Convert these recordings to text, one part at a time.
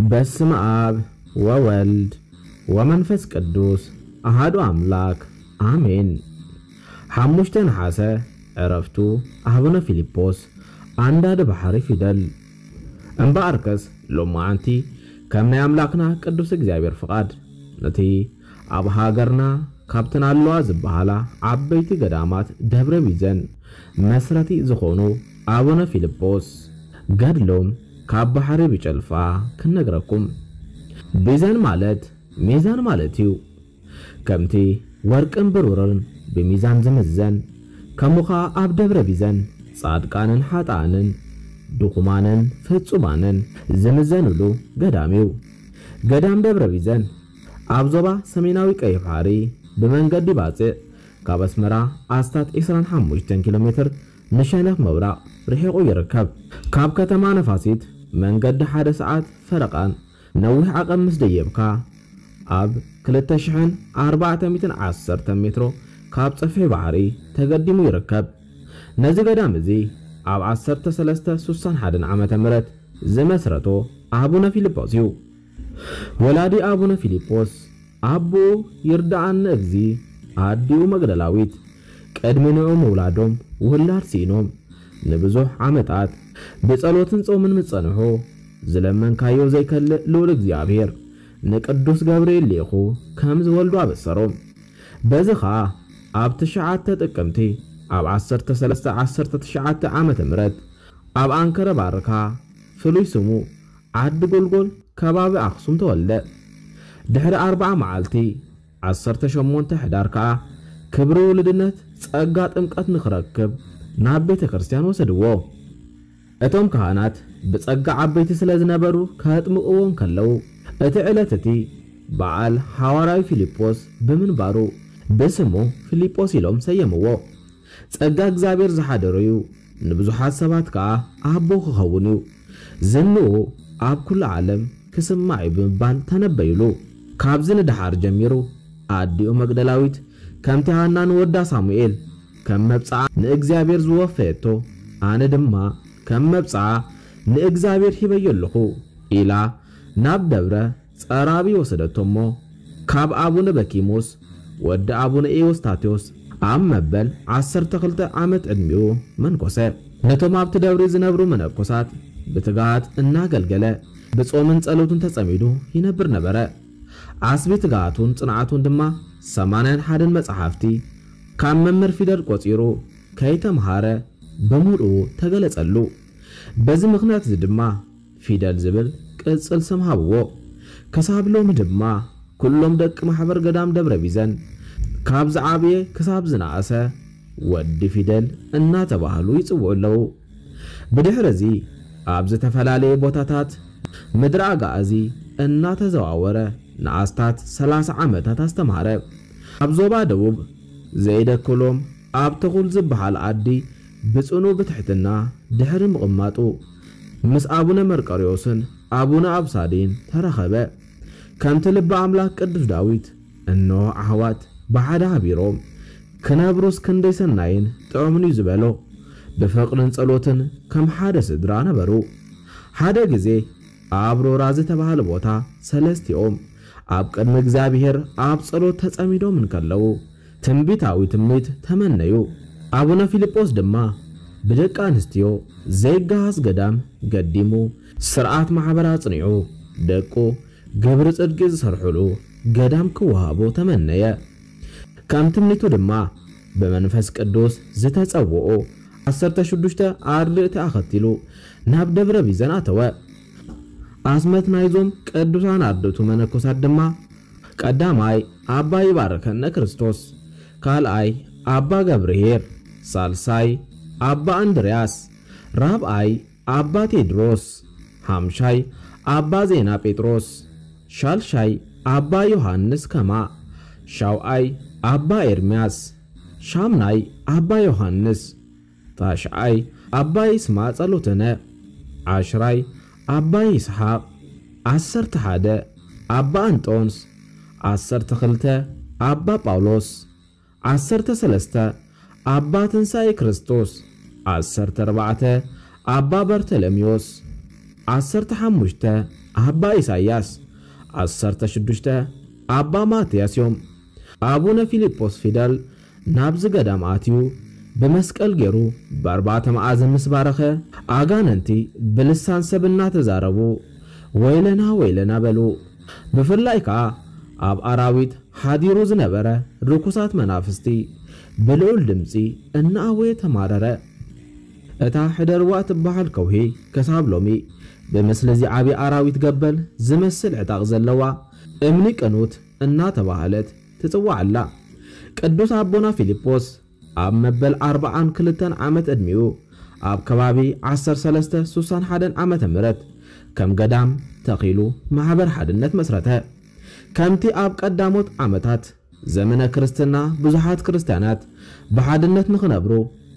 በስመ አብ ወወልድ ወመንፈስ ቅዱስ አሃዱ አምላክ አሜን። ሓሙሽተ ነሓሰ ዕረፍቱ ኣቡነ ፊልጶስ ኣንዳዲ ባሕሪ ፊደል። እምበኣርከስ ሎማዓንቲ ከም ናይ ኣምላክና ቅዱስ እግዚኣብሔር ፍቓድ ነቲ ኣብ ሃገርና ካብተን ኣለዋ ዝበሃላ ዓበይቲ ገዳማት ደብረ ቢዘን መስረቲ ዝኾኑ ኣቡነ ፊልጶስ ገድሎም ካብ ባሕሪ ብጨልፋ ክንነግረኩም። ቢዘን ማለት ሚዛን ማለት እዩ። ከምቲ ወርቅን ብሩርን ብሚዛን ዝምዘን፣ ከምኡ ኸኣ ኣብ ደብረ ቢዘን ጻድቃንን ሓጥኣንን ድኹማንን ፍጹማንን ዝምዘንሉ ገዳም እዩ። ገዳም ደብረ ቢዘን ኣብ ዞባ ሰሜናዊ ቀይሕ ባሕሪ ብመንገዲ ባጽዕ ካብ ኣስመራ ኣስታት ዕስራን ሓሙሽተን ኪሎ ሜትር ንሸነኽ ምብራቕ ርሒቑ ይርከብ። ካብ ከተማ ነፋሲት መንገዲ ሓደ ሰዓት ፈረቓን ነዊሕ ዓቐብ ምስ ደየብካ ኣብ ክልተ ሽሕን ኣርባዕተ ሚእትን ዓሰርተ ሜትሮ ካብ ጸፍሒ ባሕሪ ተገዲሙ ይርከብ። ነዚ ገዳም እዚ ኣብ ዓሰርተ ሰለስተ ስሳን ሓደን ዓመተ ምህረት ዝመስረቶ ኣቡነ ፊልጶስ እዩ። ወላዲ ኣቡነ ፊልጶስ ኣቦኡ ይርድኣኒ እግዚ ኣዲኡ መግደላዊት ቅድሚ ንዑ ምውላዶም ውላድ ስኢኖም ንብዙሕ ዓመታት ብጸሎትን ጾምን ምስ ጸንሑ ዝለመንካዮ ዘይከልእ ልዑል እግዚኣብሔር ንቅዱስ ገብርኤል ልኢኹ ከም ዝወልዱ ኣበሰሮም። በዚ ኸኣ ኣብ ትሽዓተ ጥቅምቲ ኣብ ዓሰርተ ሰለስተ ዓሰርተ ትሽዓተ ዓመተ ምህረት ኣብ ኣንከረ ባርካ ፍሉይ ስሙ ዓዲ ጎልጎል ከባቢ ኣኽሱም ተወልደ። ድሕሪ ኣርብዓ መዓልቲ ዓሰርተ ሸሞንተ ሕዳር ከኣ ክብሪ ውሉድነት ጸጋ ጥምቀት ንኽረክብ ናብ ቤተ ክርስቲያን ወሰድዎ። እቶም ካህናት ብጸጋ ዓበይቲ ስለ ዝነበሩ ከጥምቕዎ እንከለዉ እቲ ዕለት እቲ በዓል ሓዋርያዊ ፊልጶስ ብምንባሩ ብስሙ ፊልጶስ ኢሎም ሰየምዎ። ጸጋ እግዚኣብሔር ዝሓደሮ እዩ፣ ንብዙሓት ሰባት ከኣ ኣቦ ክኸውን እዩ፣ ዝንኡ ኣብ ኩሉ ዓለም ክስማዕ እዩ ብምባል ተነበዩሉ። ካብዚ ንደሓር ጀሚሩ ኣዲኡ መግደላዊት ከምቲ ሃና ንወዳ ሳሙኤል ከም መብጽዓ ንእግዚኣብሔር ዝወፈየቶ ኣነ ድማ ከም መብጽዓ ንእግዚኣብሔር ሂበዮ ኣለኹ ኢላ ናብ ደብረ ጸራቢ ወሰደቶ እሞ ካብ ኣቡነ በኪሙስ ወዲ ኣቡነ ኤዎስታቴዎስ ኣብ መበል ዓሰርተ ክልተ ዓመት ዕድሚኡ መንኮሰ። ነቶም ኣብቲ ደብሪ ዝነብሩ መነኮሳት ብትግሃት እናገልገለ ብጾምን ጸሎትን ተጸሚዱ ይነብር ነበረ። ዓስቢ ትግሃቱን ጽንዓቱን ድማ ሰማንያን ሓደን መጻሕፍቲ ካብ መምህር ፊደል ቆጺሩ ከይተምሃረ ብምሉኡ ተገለጸሉ። በዚ ምኽንያት እዚ ድማ ፊደል ዝብል ቅጽል ስም ሃብዎ። ክሳብ ሎሚ ድማ ኩሎም ደቂ ማሕበር ገዳም ደብረ ቢዘን ካብ ዝዓብየ ክሳብ ዝነኣሰ ወዲ ፊደል እናተባህሉ ይጽውዑ ኣለዉ። ብድሕሪ እዚ ኣብ ዝተፈላለየ ቦታታት ምድሪ ኣጋኣዚ እናተዘዋወረ ንኣስታት ሰላሳ ዓመታት ኣስተምሃረ። ኣብ ዞባ ደቡብ ዘይደክሎም ኣብ ተኹል ዝበሃል ዓዲ ብጽኑ ብትሕትና ድሕሪ ምቕማጡ ምስ ኣቡነ መርቆሬዎስን ኣቡነ ኣብሳዲን ተራኸበ። ከምቲ ልበ ኣምላክ ቅዱስ ዳዊት እንሆ ኣሕዋት ብሓደ ሃቢሮም ክነብሩስ ክንደይ ሰናይን ጥዑምን እዩ ዝበሎ፣ ብፍቕርን ጸሎትን ከም ሓደ ስድራ ነበሩ። ሓደ ግዜ ኣብ ሮራ ዝተባህለ ቦታ ሰለስቲኦም ኣብ ቅድሚ እግዚኣብሔር ኣብ ጸሎት ተጸሚዶም እንከለዉ ትንቢታዊ ትምኒት ተመነዩ። ኣቡነ ፊልጶስ ድማ ብደቂ ኣንስትዮ ዘይገሃስ ገዳም ገዲሙ ስርዓት ማሕበር ኣጽኒዑ ደቁ ግብሪ ጽድቂ ዝሰርሑሉ ገዳም ክወሃቦ ተመነየ። ከም ትምኒቱ ድማ ብመንፈስ ቅዱስ ዝተጸውዑ ዓሰርተ ሽዱሽተ ኣርድእቲ ኣኸቲሉ ናብ ደብረ ቢዘን ኣተወ። ኣስመት ናይዞም ቅዱሳን ኣርድእቱ መነኮሳት ድማ ቀዳማይ ኣባ ይባርከነ ክርስቶስ፣ ካልኣይ ኣባ ገብርሄር፣ ሳልሳይ ኣባ እንድርያስ፣ ራብኣይ ኣባ ቴድሮስ፣ ሓምሻይ ኣባ ዜና ጴጥሮስ፣ ሻልሻይ ኣባ ዮሃንስ ከማ፣ ሻውኣይ ኣባ ኤርምያስ፣ ሻምናይ ኣባ ዮሃንስ፣ ታሽዓይ ኣባ ይስማ ጸሎተነ፣ ዓሽራይ ኣባ ይስሓቕ፣ ዓሰርተ ሓደ ኣባ ኣንጦንስ፣ ዓሰርተ ክልተ ኣባ ጳውሎስ፣ ዓሰርተ ሰለስተ ኣባ ትንሳኤ ክርስቶስ፣ ዓሰርተ ኣርባዕተ ኣባ በርተለሜዎስ፣ ዓሰርተ ሓሙሽተ ኣባ ኢሳያስ፣ ዓሰርተ ሽዱሽተ ኣባ ማትያስ እዮም። ኣቡነ ፊልጶስ ፊደል ናብዚ ገዳም ኣትዩ ብመስቀል ገይሩ ብኣርባዕተ መኣዝን ምስ ባረኸ፣ ኣጋንንቲ ብልሳን ሰብ እናተዛረቡ ወይለና ወይለና በሉ። ብፍላይ ከኣ ኣብ ኣራዊት ሓዲሩ ዝነበረ ርኩሳት መናፍስቲ ብልዑል ድምጺ እናኣወየ ተማረረ። እታ ሕደርዋ እትበሃል ከውሒ ክሳብ ሎሚ ብምስሊ እዚ ዓቢ ኣራዊት ገበል ዝመስል ዕጣቕ ዘለዋ እምኒ ቅኑት እናተባህለት ትጽዋዕ ኣላ። ቅዱስ ኣቦና ፊልጶስ ኣብ መበል ኣርብዓን ክልተን ዓመት ዕድሚኡ ኣብ ከባቢ ዓሰርተ ሰለስተ ስሳን ሓደን ዓመተ ምህረት ከም ገዳም ተኺሉ ማሕበር ሓድነት መስረተ። ከምቲ ኣብ ቀዳሞት ዓመታት ዘመነ ክርስትና ብዙሓት ክርስትያናት ብሓድነት ንኽነብሩ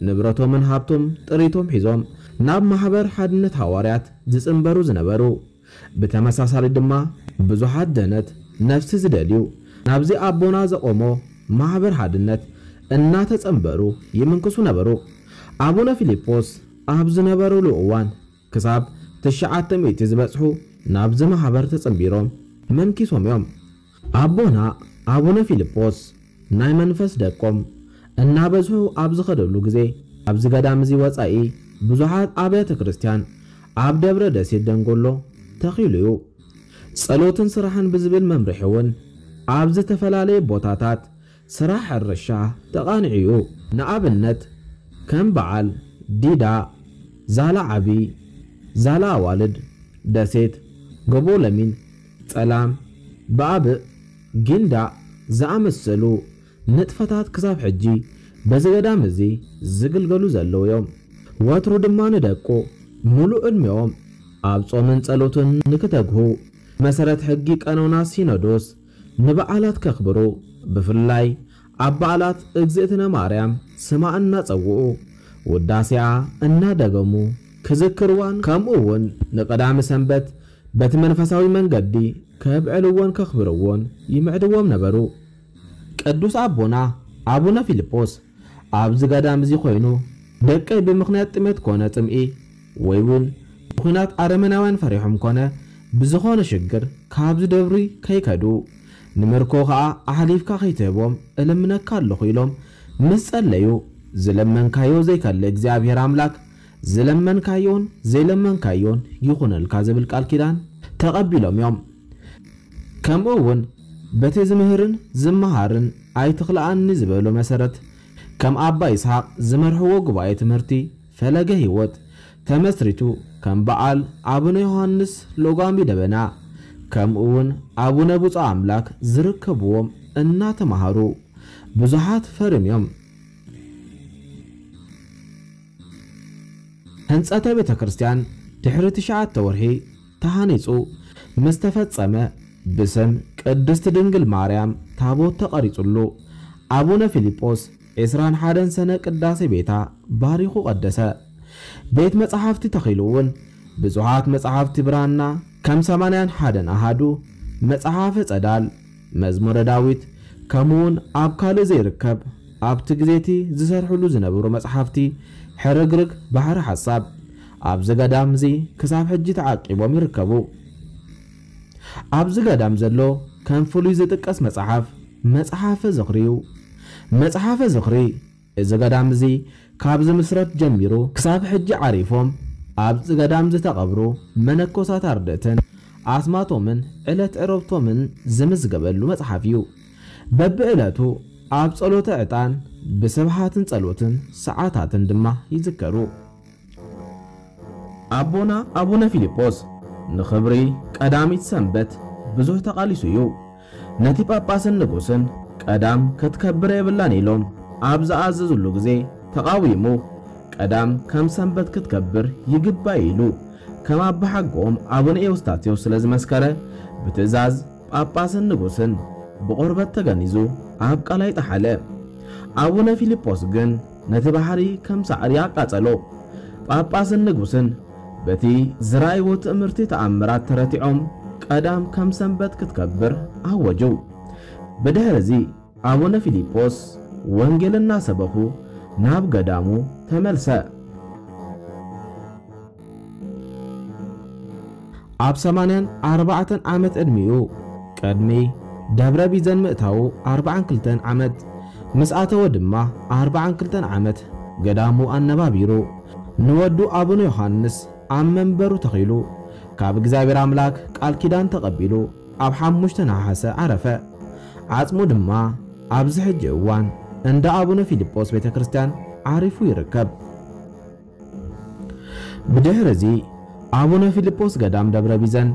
ንብረቶምን ሃብቶም ጥሪቶም ሒዞም ናብ ማሕበር ሓድነት ሃዋርያት ዝጽንበሩ ዝነበሩ፣ ብተመሳሳሊ ድማ ብዙሓት ደነት ነፍሲ ዝደልዩ ናብዚ ኣቦና ዘቆሞ ማሕበር ሓድነት እናተጸንበሩ ይምንክሱ ነበሩ። ኣቡነ ፊልጶስ ኣብ ዝነበሩሉ እዋን ክሳብ ትሽዓተ ሚእቲ ዝበጽሑ ናብዚ ማሕበር ተጸንቢሮም መንኪሶም እዮም። ኣቦና ኣቡነ ፊልጶስ ናይ መንፈስ ደቆም እናበዝሑ ኣብ ዝኸደሉ ግዜ፣ ኣብዚ ገዳም እዚ ወጻኢ ብዙሓት ኣብያተ ክርስቲያን ኣብ ደብረ ደሴት ደንጎሎ ተኺሉ እዩ። ጸሎትን ስራሕን ብዝብል መምርሒ እውን ኣብ ዝተፈላለየ ቦታታት ስራሕ ሕርሻ ተቓኒዑ እዩ። ንኣብነት ከም በዓል ዲዳ፣ ዛላ ዓቢ፣ ዛላ ኣዋልድ፣ ደሴት፣ ጎቦ ለሚን፣ ጸላም፣ ብኣብእ፣ ጊንዳዕ ዝኣመሰሉ ንጥፈታት ክሳብ ሕጂ በዚ ገዳም እዚ ዝግልገሉ ዘለዉ እዮም። ወትሩ ድማ ንደቁ ሙሉእ ዕድሜኦም ኣብ ጾምን ጸሎትን ንክተግሁ፣ መሰረት ሕጊ ቀኖና ሲኖዶስ ንበዓላት ከኽብሩ፣ ብፍላይ ኣብ በዓላት እግዝእትነ ማርያም ስማ እናጸውዑ ውዳሴኣ እናደገሙ ክዝክርዋን ከምኡ እውን ንቀዳሚ ሰንበት በቲ መንፈሳዊ መንገዲ ከብዕልዎን ከኽብርዎን ይምዕድዎም ነበሩ። ቅዱስ ኣቦና ኣቡነ ፊልጶስ ኣብዚ ገዳም እዚ ኮይኑ ደቀይ ብምኽንያት ጥሜት ኮነ ጽምኢ ወይ እውን ብኹናት ኣረመናውያን ፈሪሖም ኮነ ብዝኾነ ሽግር ካብዚ ደብሪ ከይከዱ ንምርኮ ኸኣ ኣሕሊፍካ ከይትህቦም እልምነካ ኣለኹ ኢሎም ምስ ጸለዩ ዝለመንካዮ ዘይከልእ እግዚኣብሔር ኣምላክ ዝለመንካዮን ዘይለመንካዮን ይኹነልካ ዝብል ቃል ኪዳን ተቐቢሎም እዮም። ከምኡ እውን በቲ ዝምህርን ዝመሃርን ኣይትኽልኣኒ ዝበሎ መሰረት ከም ኣባ ይስሓቅ ዝመርሕዎ ጉባኤ ትምህርቲ ፈለገ ህይወት ተመስሪቱ ከም በዓል ኣቡነ ዮሃንስ ሎጓሚ ደበና ከምኡ እውን ኣቡነ ብፁዕ ኣምላክ ዝርከብዎም እናተማሃሩ ብዙሓት ፈርዮም። ህንጸተ ቤተ ክርስቲያን ድሕሪ ትሽዓተ ወርሒ ተሃኒጹ ምስ ተፈጸመ ብስም ቅድስት ድንግል ማርያም ታቦት ተቐሪጹሉ ኣቡነ ፊልጶስ ዕስራን ሓደን ሰነ ቅዳሴ ቤታ ባሪኹ ቀደሰ። ቤት መጻሕፍቲ ተኺሉ እውን ብዙሓት መጻሕፍቲ ብራና ከም ሰማንያን ሓደን ኣሃዱ መጽሓፈ ጸዳል መዝሙረ ዳዊት ከምኡውን ኣብ ካልእ ዘይርከብ ኣብቲ ግዜቲ ዝሰርሕሉ ዝነበሩ መጽሓፍቲ ሕርግርግ ባሕሪ ሓሳብ ኣብዚ ገዳም እዚ ክሳብ ሕጂ ተዓቂቦም ይርከቡ። ኣብዚ ገዳም ዘሎ ከም ፍሉይ ዝጥቀስ መጽሓፍ መጽሓፈ ዝኽሪ እዩ። መጽሓፈ ዝኽሪ እዚ ገዳም እዚ ካብ ዝምስረት ጀሚሩ ክሳብ ሕጂ ዓሪፎም ኣብዚ ገዳም ዝተቐብሩ መነኮሳት ኣርድእትን ኣስማቶምን ዕለት ዕረፍቶምን ዝምዝገበሉ መጽሓፍ እዩ። በብዕለቱ ኣብ ጸሎተ ዕጣን ብስብሃትን ጸሎትን ሰዓታትን ድማ ይዝከሩ። ኣቦና ኣቡነ ፊልጶስ ንኽብሪ ቀዳሚት ሰንበት ብዙሕ ተቓሊሱ እዩ። ነቲ ጳጳስን ንጉስን ቀዳም ክትከብር የብላን ኢሎም ኣብ ዝኣዘዙሉ ግዜ ተቓዊሙ፣ ቀዳም ከም ሰንበት ክትከብር ይግባእ ኢሉ ከም ኣባሓጎኦም ኣቡነ ኤዎስጣቴዎስ ስለ ዝመስከረ ብትእዛዝ ጳጳስን ንጉስን ብቆርበት ተገኒዙ ኣብ ቃላይ ጠሓለ። ኣቡነ ፊልጶስ ግን ነቲ ባሕሪ ከም ሳዕሪ ኣቃጸሎ። ጳጳስን ንጉስን በቲ ዝረኣይዎ ትእምርቲ ተኣምራት ተረቲዖም ቀዳም ከም ሰንበት ክትከብር ኣወጁ። ብድሕርዚ ኣቡነ ፊልጶስ ወንጌል እናሰበኹ ናብ ገዳሙ ተመልሰ። ኣብ ሰማንያን ኣርባዕተን ዓመት ዕድሚኡ ቅድሚ ደብረ ቢዘን ምእታዉ ኣርባዓን ክልተን ዓመት፣ ምስ ኣተወ ድማ ኣርባዓን ክልተን ዓመት ገዳሙ ኣነባቢሩ፣ ንወዱ ኣቡነ ዮሃንስ ኣብ መንበሩ ተኺሉ፣ ካብ እግዚኣብሔር ኣምላክ ቃል ኪዳን ተቐቢሉ፣ ኣብ ሓሙሽተ ነሓሰ ዓረፈ። ዓጽሙ ድማ ኣብዚ ሕጂ እዋን እንዳ ኣቡነ ፊልጶስ ቤተ ክርስቲያን ዓሪፉ ይርከብ። ብድሕሪ እዚ ኣቡነ ፊልጶስ ገዳም ደብረ ቢዘን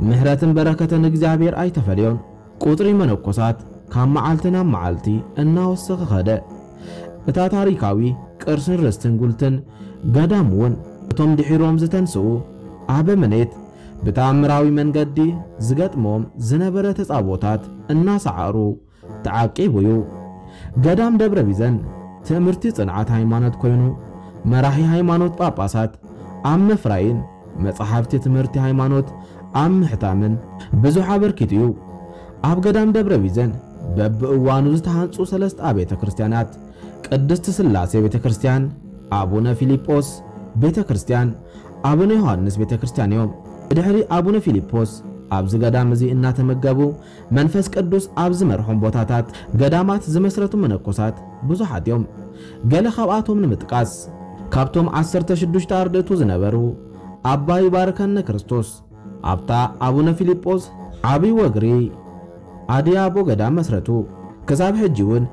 ምሕረትን በረከትን እግዚኣብሔር ኣይተፈልዮን። ቁጽሪ መነኮሳት ካብ መዓልቲ ናብ መዓልቲ እናወሰኸ ኸደ። እታ ታሪካዊ ቅርስን ርስትን ጉልትን ገዳም እውን እቶም ድሒሮም ዝተንስኡ ኣበምኔት ብተኣምራዊ መንገዲ ዝገጥሞም ዝነበረ ተጻቦታት እናሰዓሩ ተዓቂቡ እዩ። ገዳም ደብረ ቢዘን ትምህርቲ ጽንዓት ሃይማኖት ኮይኑ፣ መራሒ ሃይማኖት ጳጳሳት ኣብ ምፍራይን መጻሕፍቲ ትምህርቲ ሃይማኖት ኣብ ምሕታምን ብዙሕ ኣበርኪቱ እዩ። ኣብ ገዳም ደብረ ቢዘን በብእዋኑ ዝተሃንጹ ሰለስተ ኣብያተ ክርስቲያናት፣ ቅድስት ስላሴ ቤተ ክርስቲያን፣ ኣቡነ ፊልጶስ ቤተ ክርስቲያን፣ ኣቡነ ዮሃንስ ቤተ ክርስቲያን እዮም። ብድሕሪ ኣቡነ ፊልጶስ ኣብዚ ገዳም እዚ እናተመገቡ መንፈስ ቅዱስ ኣብ ዝመርሖም ቦታታት ገዳማት ዝመስረቱ መነኮሳት ብዙሓት እዮም። ገለ ካብኣቶም ንምጥቃስ፣ ካብቶም ዓሰርተ ሽዱሽተ ኣርድእቱ ዝነበሩ ኣባ ይባርከነ ክርስቶስ፣ ኣብታ ኣቡነ ፊልጶስ ዓብዪ ወግሪ ኣድያቦ ገዳም መስረቱ። ክሳብ ሕጂ እውን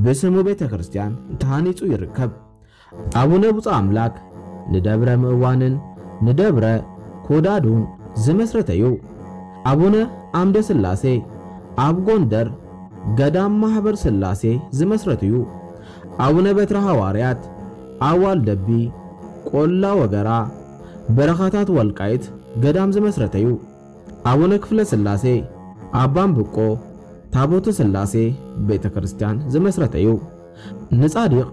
ብስሙ ቤተ ክርስቲያን ተሃኒጹ ይርከብ። ኣቡነ ብፁዕ ኣምላክ ንደብረ ምእዋንን ንደብረ ኮዳዱን ዝመስረተ እዩ። ኣቡነ ኣምደ ስላሴ ኣብ ጎንደር ገዳም ማህበር ስላሴ ዝመስረተ እዩ። ኣቡነ በትረ ሃዋርያት ኣብ ዋልደቢ፣ ቆላ ወገራ፣ በረኻታት ወልቃይት ገዳም ዝመስረተ እዩ። ኣቡነ ክፍለ ስላሴ ኣብ ባምብቆ ታቦተ ስላሴ ቤተ ክርስቲያን ዝመስረተ እዩ። ንጻድቕ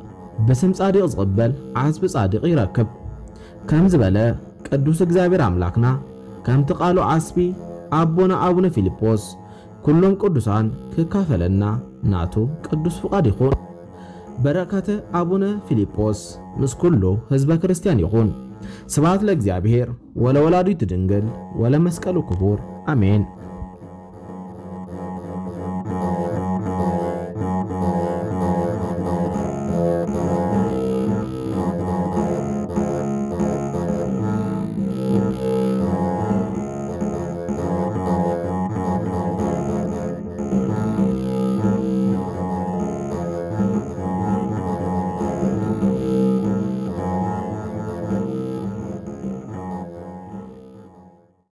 ብስም ጻድቕ ዝቕበል ዓስቢ ጻድቕ ይረክብ ከም ዝበለ ቅዱስ እግዚኣብሔር ኣምላክና፣ ከምቲ ቃሉ ዓስቢ ኣቦና ኣቡነ ፊልጶስ ኩሎም ቅዱሳን ክካፈለና ናቱ ቅዱስ ፍቓድ ይኹን። በረከተ ኣቡነ ፊልጶስ ምስ ኩሉ ህዝበ ክርስቲያን ይኹን። ስብሐት ለእግዚኣብሔር ወለወላዲቱ ድንግል ወለመስቀሉ ክቡር፣ ኣሜን።